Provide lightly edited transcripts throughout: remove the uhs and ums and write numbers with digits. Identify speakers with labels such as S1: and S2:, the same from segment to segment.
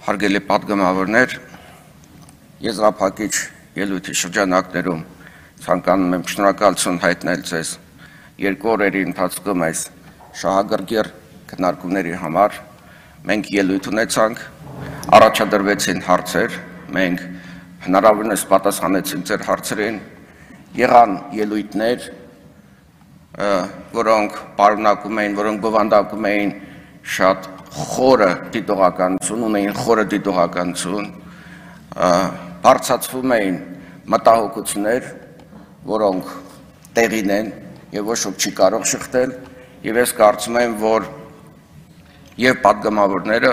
S1: Հարգելի պատգամավորներ, եզրափակիչ ելույթի շրջանակներում ցանկանում եմ շնորհակալություն հայտնել ձեզ երկու օրերի ընթացքում այս շահագրգիռ քննարկումների համար։ Մենք ելույթ ունեցանք, առաջադրվեցին հարցեր, մենք հնարավորինս պատասխանեցինք ձեր հարցերին, եղան ելույթներ, որոնք պարունակում էին, որոնք բովանդակում էին շատ խորը դիտողականություն, ունեին խորը դիտողականություն, բարձրացվում էին մտահոգություններ, որոնք տեղին են եւ ոչ ոք չի կարող շղթել, եւ ես կարծում եմ, որ եւ պատգամավորները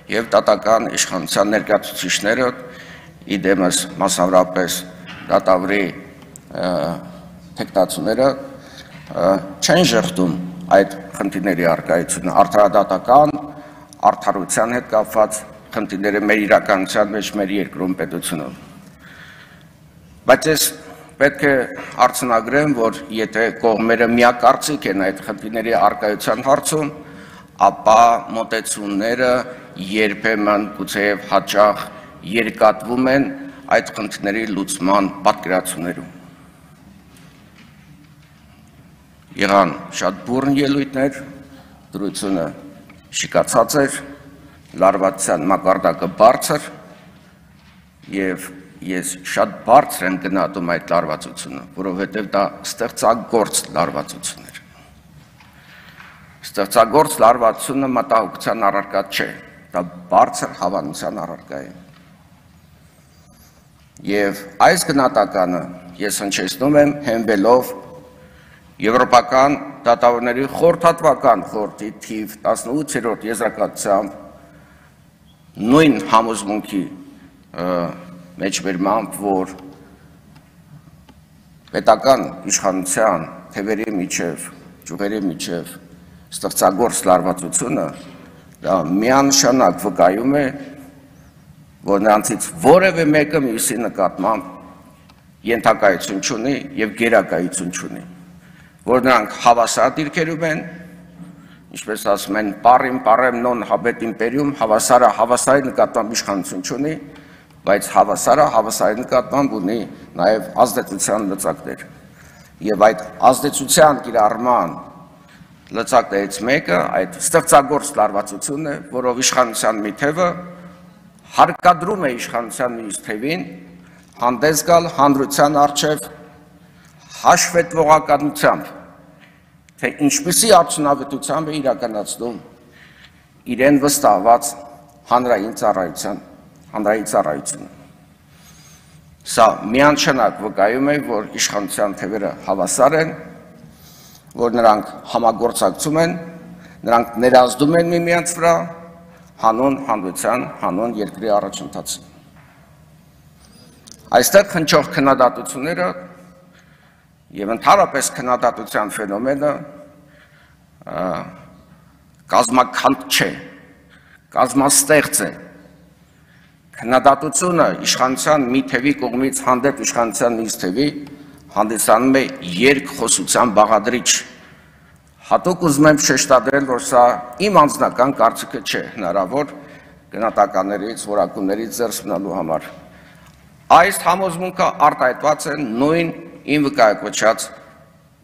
S1: եւ դատական իշխանության ներկայացուցիչները իդեմս մասնավորապես դատավորի թեկնածուները չեն ժխտում այդ խնդիրների առկայությունը, արդարադատական արդարության հետ կապված խնդիրները մեր իրականության մեջ, մեր երկրում պետությունում։ Բայց ես պետք է արձանագրեմ, որ եթե կողմերը միակարծիք են այդ խնդիրների առկայության հարցում, ապա մոտեցումները երբեմն գուցեև հաճախ երկատվում են այդ խնդիրների լուծման պատկերացումներում։ Եղան շատ բուռն ելույթներ, դրությունը շիկացած էր, լարվածության մակարդակը բարձր եւ ես շատ բարձր եմ գնահատում այդ լարվածությունը, որովհետեւ դա ստեղծագործ լարվածություն էր։ Ստեղծագործ լարվածությունը մտահոգության առարկա չէ, դա բարձր հավանության առարկա է։ Եվ այս գնահատականը ես հնչեցնում եմ հենվելով Եվրոպական դատավորների խորհրդատվական խորհրդի թիվ 18-րդ եզրակացությամբ նույն համոզմունքի մեջբերմամբ, որ պետական իշխանության թևերի միջև, ճյուղերի միջև ստեղծագործ լարվածությունը դա միանշանակ վկայում է, որ նրանցից որևէ մեկը մյուսի նկատմամբ ենթակայություն չունի եւ գերակայություն չունի, որ նրանք հավասար դիրքերում են, ինչպես ասում են, պարին պարեմ նոն հաբետ իմպերիում, հավասարը հավասարի նկատմամբ իշխանություն չունի, բայց հավասարը հավասարի նկատմամբ ունի նաև ազդեցության լծակներ։ Եվ այդ ազդեցության կիրառման լծակներից մեկը այդ ստեղծագործ լարվածությունն է, որով իշխանության մի թևը հարկադրում է իշխանության մյուս թևին հանդես գալ հանրության առջև հաշվետվողականությամբ, թե ինչպիսի արդյունավետությամբ է իրականացնում իրեն վստահված հանրային ծառայությունը։ Սա միանշանակ վկայում է, որ իշխանության թևերը հավասար են, որ նրանք համագործակցում են, նրանք ներազդում են միմյանց վրա հանուն հանրության, հանուն երկրի առաջընթացին։ Այստեղ հնչող քննադատությունները եւ ընդհանրապես քննադատության ֆենոմենը կազմաքանդ չէ, կազմաստեղծ է։ Քննադատությունը իշխանության մի թևի կողմից հանդեպ իշխանության մյուս թևի հանդիսանում է երկխոսության բաղադրիչ։ Հատուկ ուզում եմ շեշտադրել, որ սա իմ անձնական կարծիքը չէ, հնարավոր գնահատականներից, որակումներից ձեռս մնալու համար։ Այս համոզմունքը արտահայտված է նույն իմ վկայակոչած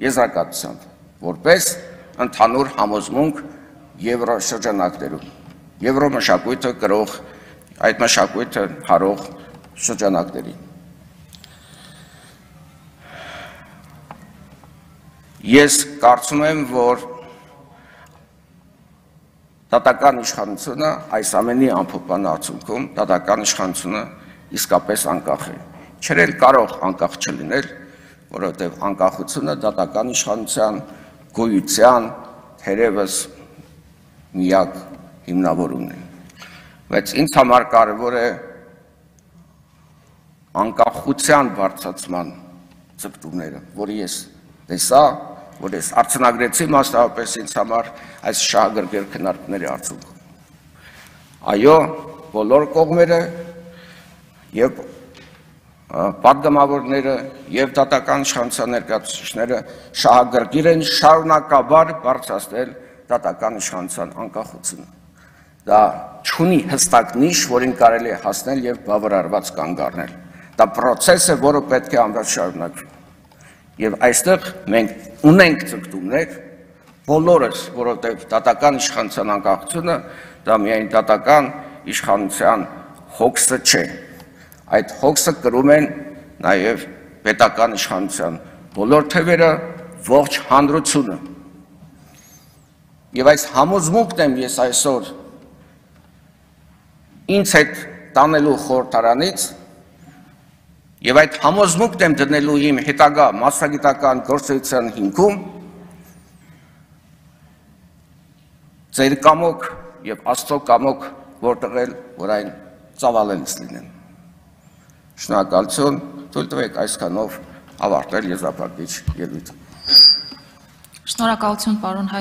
S1: եզրակացությամբ, որպես ընդհանուր համոզմունք եվրոշրջանակներում, եվրոմշակույթը կրող, այդ մշակույթը հարող շրջանակներին։ Ես կարծում եմ, որ դատական իշխանությունը այս ամենի ամփոփման արդյունքում դատական իշխանությունը իսկապես անկախ է։ Չէր էլ կարող անկախ չլինել, որովհետև անկախությունը դատական իշխանության գոյության թերևս միակ հիմնավորումն է։ Բայց ինձ համար կարևոր է անկախության բարձրացման ձգտումները, որը ես տեսա, որ ես արձանագրեցի մասնավորապես ինձ համար այս շահագրգիռ քննարկումների արդյունքում։ Այո, բոլոր կողմերը եւ պատգամավորները եւ դատական իշխանության ներկայացուցիչները շահագրգիռ են շարունակաբար բարձրացնել դատական իշխանության անկախությունը։ դա չունի հստակ նիշ, որին կարելի է հասնել եւ բավարարված կանգ առնել։ Դա process է, որը պետք է անվերջ շարունակվի։ Եվ այստեղ մենք ունենք ցկտումներ, բոլորս, որովհետեւ դատական իշխանության անկախությունը դա միայն դատական իշխանության հոգսը չէ։ Այդ հոգսը կրում են նաեւ պետական իշխանության բոլոր թևերը, ողջ հանրությունը։ Եվ այս համոզմունքն եմ ես այսօր ինձ հետ տանելու խորհրդարանից եւ այդ համոզմունքն եմ դնելու իմ հետագա մասնագիտական գործունեության հիմքում ձեր կամոք եւ Աստծո կամոք որտեղել, որ այն ծավալելս լինեն։ Շնորհակալություն, թույլ տվեք այսքանով ավարտել եզրափակիչ ելույթը։
S2: Շնորհակալություն, պարոն